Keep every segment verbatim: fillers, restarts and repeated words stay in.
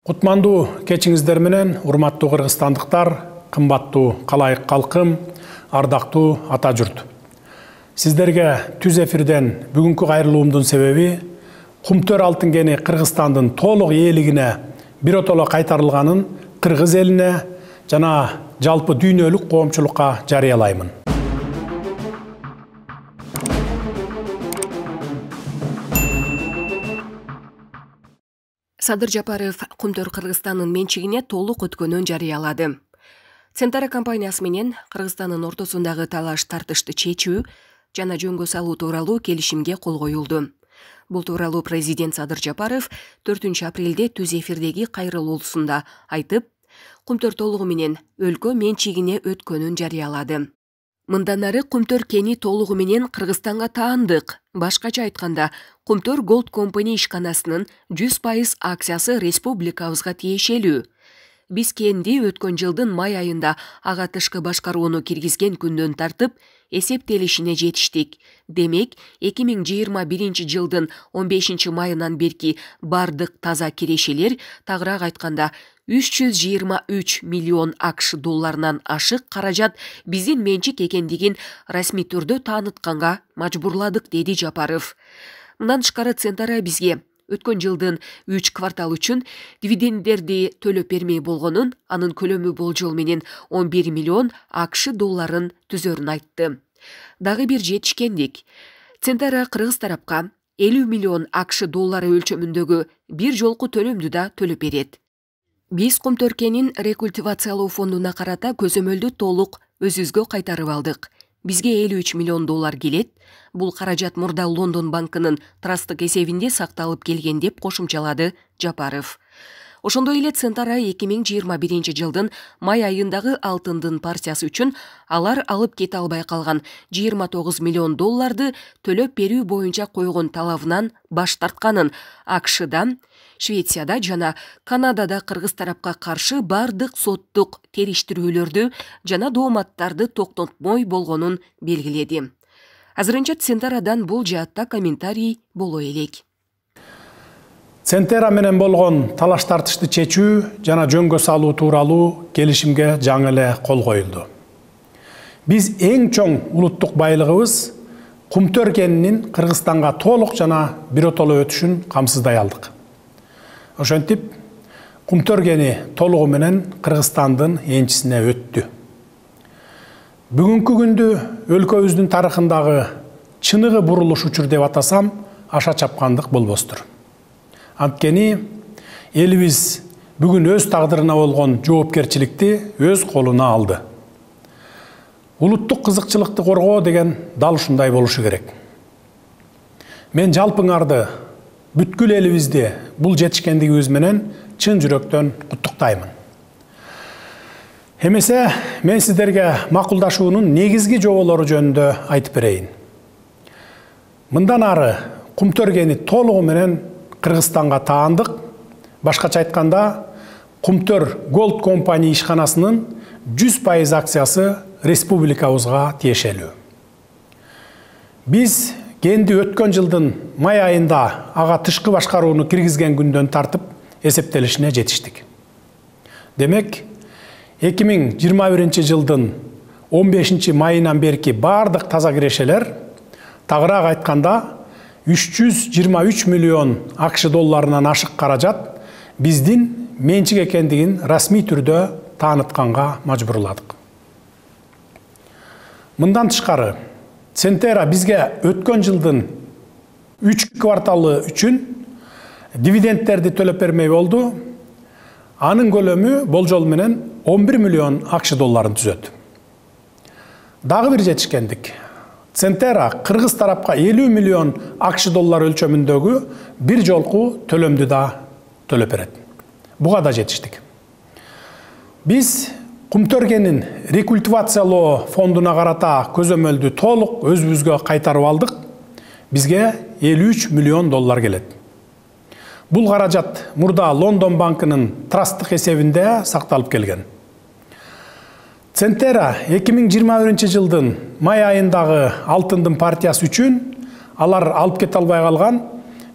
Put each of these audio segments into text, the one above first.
Кутмандуу кечиңиздер менен, урматтуу кыргызстандыктар, кымбаттуу калайык калкым, ардактуу ата журт. Сиздерге түз эфирден бүгүнкү кайрылуумдун себеби Кумтөр алтын кени Кыргызстандын толук ээлигине биротоло кайтарылганын кыргыз элине жана жалпы дүйнөлүк коомчулукка жарыялаймын. Садыр Жапаров Кумтөр Кыргызстандын менчигине толук өткөнүн жарыялады. Центара компаниясы менен Кыргызстандын ортосундагы талаш тартышты чечүү жана жөнгө салуу тууралуу келишимге кол коюлду. Бул тууралуу президент Садыр Жапаров төртүнчү апрелде түз эфирдеги кайрылуусунда айтып, Кумтөр толугу менен өлкө менчигине өткөнүн жарыялады. Мындан ары Кумтөр кени толугу менен Кыргызстанга таандык. Башкача айтканда, Кумтөр Gold Company ишканасынын жүз пайыз акциясы республикабызга тиешелүү. Биз кенди өткөн жылдын май айында ага тышкы башкарууну киргизген күндөн тартып эсептелишине жетиштик. Демек, эки миң жыйырма биринчи жылдын он бешинчи майынан берки бардык таза кирешелер, тагыраак айтканда үч жүз жыйырма үч миллион акш долларынан ашык каражат биздин менчик экендигин расмий түрдө таанытканга мажбурладык, деди Жапаров. Мындан тышкары Центара бизге өткөн жылдын үч квартал үчүн дивиденддерди төлөп бермей болгонун, анын көлөмү болжол менен он бир миллион акш долларын түзөрүн айтты. Дагы бир жетишкендик. Центара кыргыз тарапка элүү миллион акш доллары өлчөмүндөгү бир жолку төлөмдү да төлөп берет. Биз Кумтөр кенин рекультивациялоо фондуна карата көзөмөлдү толук өзүбүзгө кайтарып алдык. Бизге элүү үч миллион доллар келет. Бул каражат мурда Лондон банкынын трасттык эсебинде сакталып келген, деп кошумчалады Жапаров. Ошондой эле Центара эки миң жыйырма биринчи жылдын май айындагы алтындын партиясы үчүн алар алып кете албай калган жыйырма тогуз миллион долларды төлөп берүү боюнча койгон талабынан баш тартканын, акшда, Швецияда жана Канадада кыргыз тарапка каршы бардык соттук териштирүүлөрдү жана дооматтарды токтотмой болгонун белгиледи. Азырынча Центарадан бул жаатта комментарий боло элек. Центара менен болгон талаш тартышты чечүү жана жөнгө салуу тууралуу келишимге жаңы эле кол коюлду. Биз эң чоң улуттук байлыгыбыз Кумтөр кенинин Кыргызстанга толук жана биротоло өтүшүн камсыздай алдык. Ошентип, Кумтөр кени толугу менен Кыргызстандын энчисине өттү. Бүгүнкү күндү өлкөбүздүн тарыхындагы чыныгы бурулуш учур деп атасам, аша чапкандык болбостур. Анткени элибиз бүгүн өз тагдырына болгон жоопкерчиликти өз колуна алды. Улуттук кызыкчылыкты коргоо деген дал ушундай болушу керек. Мен жалпыңарды, бүткүл элибизди бул жетишкендигибиз менен чын жүрөктөн куттуктаймын. Эмесе, мен сиздерге макулдашуунун негизги жоболору жөнүндө айтып берейин. Мындан ары Кумтөр кени толугу менен Кыргызстанга таандык. Башкача айтканда, Кумтөр Gold Company ишканасынын жүз пайыз акциясы республикабызга тиешелүү. Биз кенди өткөн жылдын май айында ага тышкы башкарууну киргизген күндөн тартып эсептелишине жетиштик. Демек, эки миң жыйырма биринчи жылдын он бешинчи майынан берки бардык таза кирешелер, тагыраак айтканда үч жүз жыйырма үч миллион акш долларынан ашык каражат биздин менчик экендигин расмий түрдө таанытканга мажбурладык. Мындан тышкары, Центара бизге өткөн жылдын үч кварталы үчүн дивиденддерди төлөп бермей болду. Анын көлөмү болжол менен он бир миллион акш долларын түзөт. Дагы бир жетишкендик. Центара кыргыз тарапка элүү миллион акш доллар өлчөмүндөгү бир жолку төлөмдү да төлөп берет. Буга да жетиштик. Биз Кумтөр кенин рекультивациялоо фондуна карата көзөмөлдү толук өзүбүзгө кайтарып алдык. Бизге элүү үч миллион доллар келет. Бул каражат мурда Лондон банкынын трасттык эсебинде сакталып келген. Центара эки миң жыйырма биринчи жылдын май айындагы алтындын партиясы үчүн алар алып кете албай калган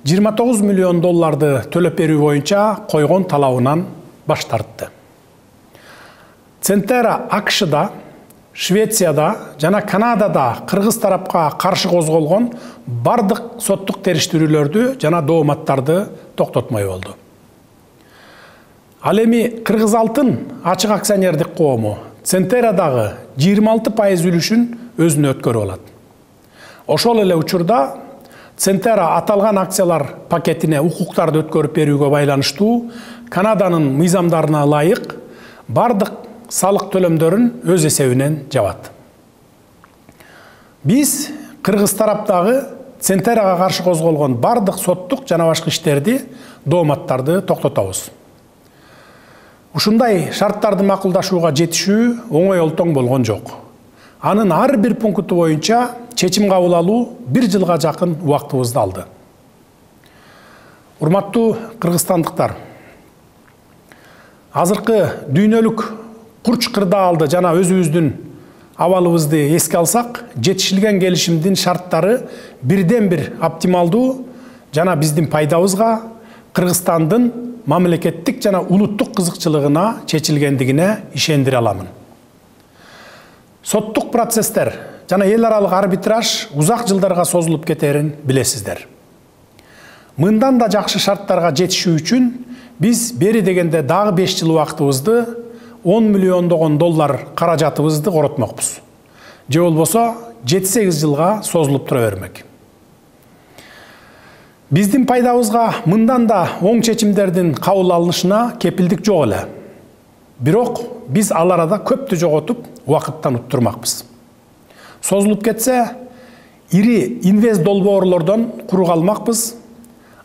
жыйырма тогуз миллион долларды төлөп берүү боюнча койгон талабынан баш тартты. Центера АКШда, Швецияда жана Канадада кыргыз тарапка каршы козголгон бардык соттук териштирүүлөрдү жана дооматтарды токтотмой болду. Ал эми Кыргыз Алтын ачык акционердик коому Центерадагы жыйырма алты пайыз үлүшүн өзүнө өткөрүп алат. Ошол эле учурда Центера аталган акциялар пакетине укуктарды өткөрүп берүүгө байланыштуу Канаданын мыйзамдарына ылайык бардык салык төлөмдөрүн өз эсебинен жабат. Биз кыргыз тараптагы Центерага каршы козголгон бардык соттук жана башка иштерди, дооматтарды токтотобуз. Ушундай шарттарды макулдашууга жетишүү оңой олтоң болгон жок. Анын ар бир пункту боюнча чечим кабыл алуу бир жылга жакын убактыбызды алды. Урматтуу кыргызстандыктар, азыркы дүйнөлүк курч кырдаалды жана өзүбүздүн абалыбызды эске алсак, жетишилген келишимдин шарттары бирден бир оптималдуу жана биздин пайдабызга, Кыргызстандын мамлекеттик жана улуттук кызыкчылыгына чечилгендигине ишендире аламын. Соттук процесстер жана эл аралык арбитраж узак жылдарга созулуп кетерин билесиздер. Мындан да жакшы шарттарга жетишүү үчүн биз бери дегенде дагы беш жыл убактыбызды, он миллиондогон доллар каражатыбызды коротмокпуз. Же болбосо жети сегиз жылга созулуп тура бермек. Биздин пайдабызга мындан да оң чечимдердин кабыл алынышына кепилдик жок эле. Бирок биз ал арада көптү жоготуп, убакыттан уттурмакпыз. Созулуп кетсе, ири инвест долбоорлордон куру калмакпыз.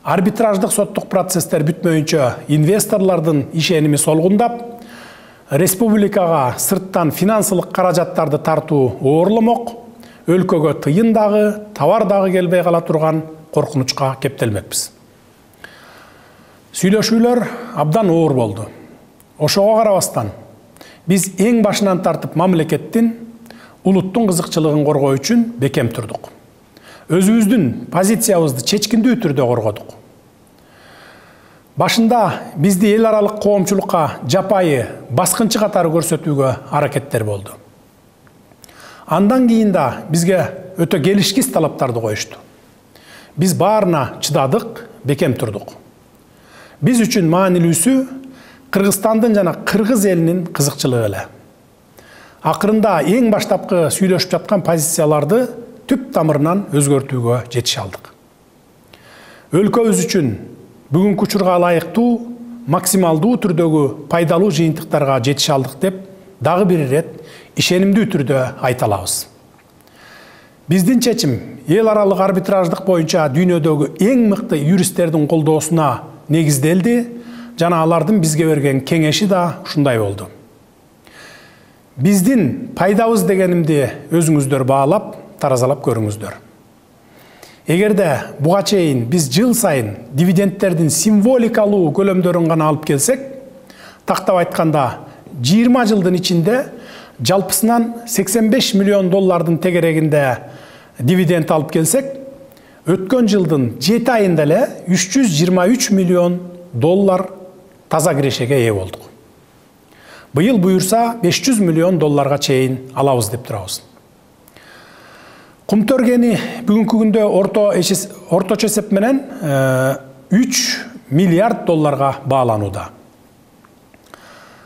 Арбитраждык соттук процесстер бүтмөйүнчө инвесторлордун ишеними солгундап, республикага сырттан финансылык каражаттарды тартуу оорломок, өлкөгө тыйын дагы, товар дагы келбей кала турган коркунучка кептелмекпиз. Сүйлөшүүлөр абдан оор болду. Ошого карабастан, биз эң башынан тартып мамлекеттин, улуттун кызыкчылыгын коргоо үчүн бекем турдук. Өзүбүздүн позициябызды чечкиндүү түрдө коргодук. Башында бизди эл аралык коомчулукка жапайы баскынчы катары көрсөтүүгө аракеттер болду. Андан кийин да бизге өтө келишкис талаптарды коюшту. Биз баарына чыдадык, бекем турдук. Биз үчүн маанилүүсү Кыргызстандын жана кыргыз элинин кызыкчылыгы эле. Акырында эң баштапкы сүйлөшүп жаткан позицияларды түп тамырынан өзгөртүүгө жетише алдык. Өлкөбүз үчүн бүгүнкү учурга ылайыктуу, максималдуу түрдөгү пайдалуу жыйынтыктарга жетише алдык деп дагы бир ирет ишенимдүү түрдө айта алабыз. Биздин чечим эл аралык арбитраждык боюнча дүйнөдөгү эң мыкты юристтердин колдоосуна негизделди жана алардын бизге берген кеңеши да ушундай болду. Биздин пайдабыз дегенимди өзүңүздөр баалап, таразалап көрүңүздөр. Эгерде буга чейин биз жыл сайын дивидендтердин символикалуу көлөмдөрүн гана алып келсек, тактап айтканда жыйырма жылдын ичинде жалпысынан сексен беш миллион доллардын тегерегинде дивиденд алып келсек, өткөн жылдын жети айында эле үч жүз жыйырма үч миллион доллар таза кирешеге ээ болдук. Быйыл буюрса беш жүз миллион долларга чейин алабыз деп турабыз. Кумтөргени бүгүнкү күндө орточо эсеп менен үч миллиард долларга бааланууда.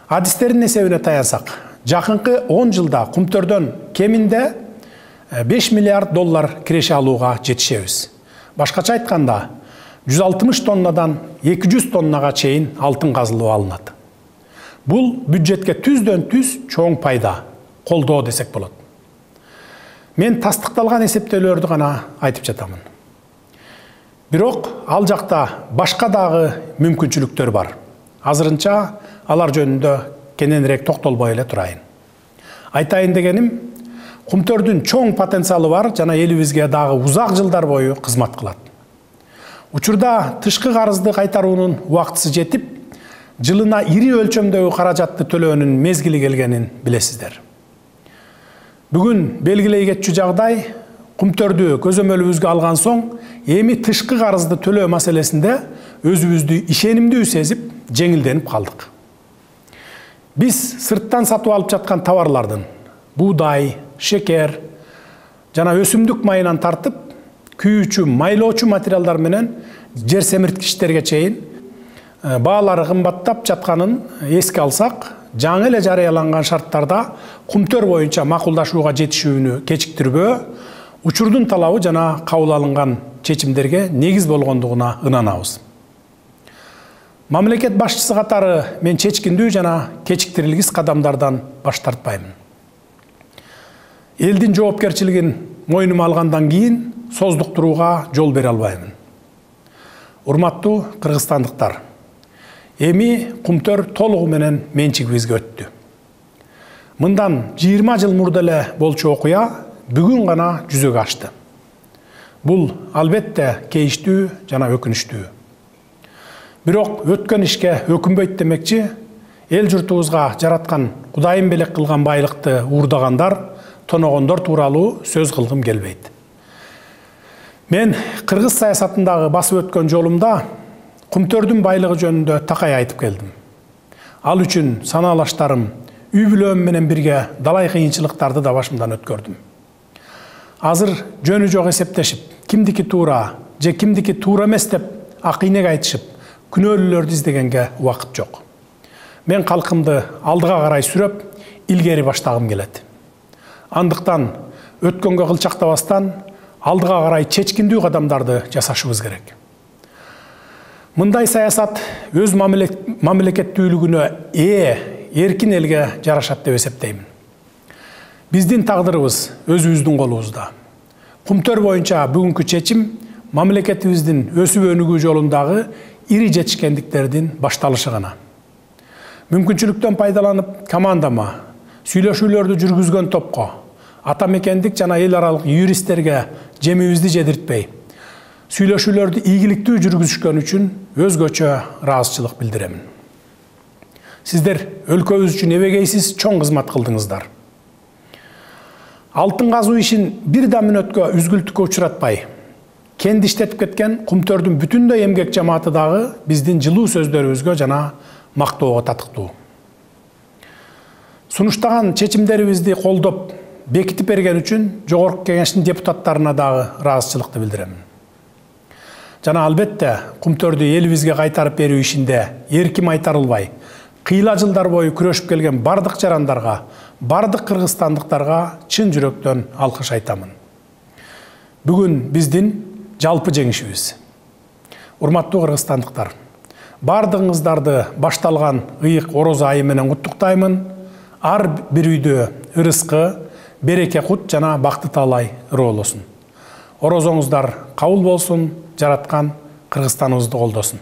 Адистердин эсебине таянсак, жакынкы он жылда Кумтөрдөн кеминде беш миллиард доллар киреше алууга жетишебиз. Башкача айтканда, жүз алтымыш тоннадан эки жүз тоннага чейин алтын казылып алынат. Бул бюджетке түздөн түз чоң пайда, колдоо десек болот. Мен тастыкталган эсептөөлөрдү гана айтып жатамын. Бирок ал жакта башка дагы мүмкүнчүлүктөр бар. Азырынча алар жөнүндө кененирээк токтолбой эле турайын. Айтайын дегеним, Кумтөрдүн чоң потенциалы бар жана элибизге дагы узак жылдар бою кызмат кылат. Учурда тышкы карызды кайтаруунун убактысы жетип, жылына ири өлчөмдөгү каражатты төлөөнүн мезгили келгенин билесиздер. Бүгүн белгилей кетчү жагдай Кумтөрдү көзөмөлүбүзгө алган соң, эми тышкы карызды төлөө маселесинде өзүбүздү ишенимдүү сезип, жеңилденип калдык. Биз сырттан сатып алып жаткан товарлардын буудай, шекер жана өсүмдүк майынан тартып, күйүүчү, майлоочу материалдар менен жер семирткичтерге чейин баалары кымбаттап жатканын эске алсак, жаңы эле жарыяланган шарттарда Кумтөр боюнча макулдашууга жетишүүнү кечиктирбөө учурдун талабы жана кабыл алынган чечимдерге негиз болгондугуна ынанабыз. Мамлекет башчысы катары мен чечкиндүү жана кечиктирилгис кадамдардан баш тартпаймын. Элдин жоопкерчилигин мойнума алгандан кийин создуктурууга жол бере албаймын. Урматтуу кыргызстандыктар, эми Кумтөр толугу менен менчигибизге өттү. Мындан жыйырма жыл мурда эле болчу окуя бүгүн гана жүзөгө ашты. Бул албетте кейиштүү жана өкүнүчтүү. Бирок өткөн ишке өкүнбөйт демекчи, эл журтубузга жараткан Кудайым белек кылган байлыкты уурдагандар, тоногондор тууралуу сөз кылгым келбейт. Мен кыргыз саясатындагы басып өткөн жолумда Кумтөрдүн байлыгы жөнүндө такай айтып келдим. Ал үчүн санаалаштарым, үй бүлөм менен бирге далай кыйынчылыктарды да башымдан өткөрдүм. Азыр жөнү жок эсептешип, кимдики туура же кимдики туура эмес деп акыйнек айтышып, күнөөлүүлөрдү издегенге убакыт жок. Мен калкымды алдыга карай сүрөп, илгери баштагым келет. Андыктан өткөнгө кылчактабастан алдыга карай чечкиндүү кадамдарды жасашыбыз керек. Мындай саясат өз мамлекеттүүлүгүнө ээ эркин элге жарашат деп эсептеймин. Биздин тагдырыбыз өзүбүздүн колубузда. Кумтөр боюнча бүгүнкү чечим мамлекетибиздин өсүп өнүгүү жолундагы ири жетишкендиктердин башталышы гана. Мүмкүнчүлүктөн пайдаланып командама, сүйлөшүүлөрдү жүргүзгөн топко, ата мекендик жана эл аралык юристтерге жемибизди жедиртпей, сүйлөшүүлөрдү ийгиликтүү жүргүзүшкөн үчүн өзгөчө ыраазычылык билдиремин. Сиздер өлкөбүз үчүн эбегейсиз чоң кызмат кылдыңыздар. Алтын казуу ишин бир да мүнөткө үзгүлтүккө учуратпай, кенди иштетип кеткен Кумтөрдүн бүтүндөй эмгек жамааты дагы биздин жылуу сөздөрүбүзгө жана мактоого татыктуу. Сунуштаган чечимдерибизди колдоп, бекитип берген үчүн Жогорку Кеңештин депутаттарына дагы ыраазычылыкты билдиремин. Жана албетте Кумтөрдү элибизге кайтарып берүү ишинде эрким айтарылбай, кыйла жылдар бою күрөшүп келген бардык жарандарга, бардык кыргызстандыктарга чын жүрөктөн алкыш айтамын. Бүгүн биздин жалпы жеңишибиз. Урматтуу кыргызстандыктар, бардыгыңыздарды башталган ыйык орозо айы менен куттуктаймын. Ар бир үйдө ырыскы, береке кут жана бакты таалай ыры болосун. Орозоңуздар кабыл болсун, жараткан Кыргызстаныбызды колдосун.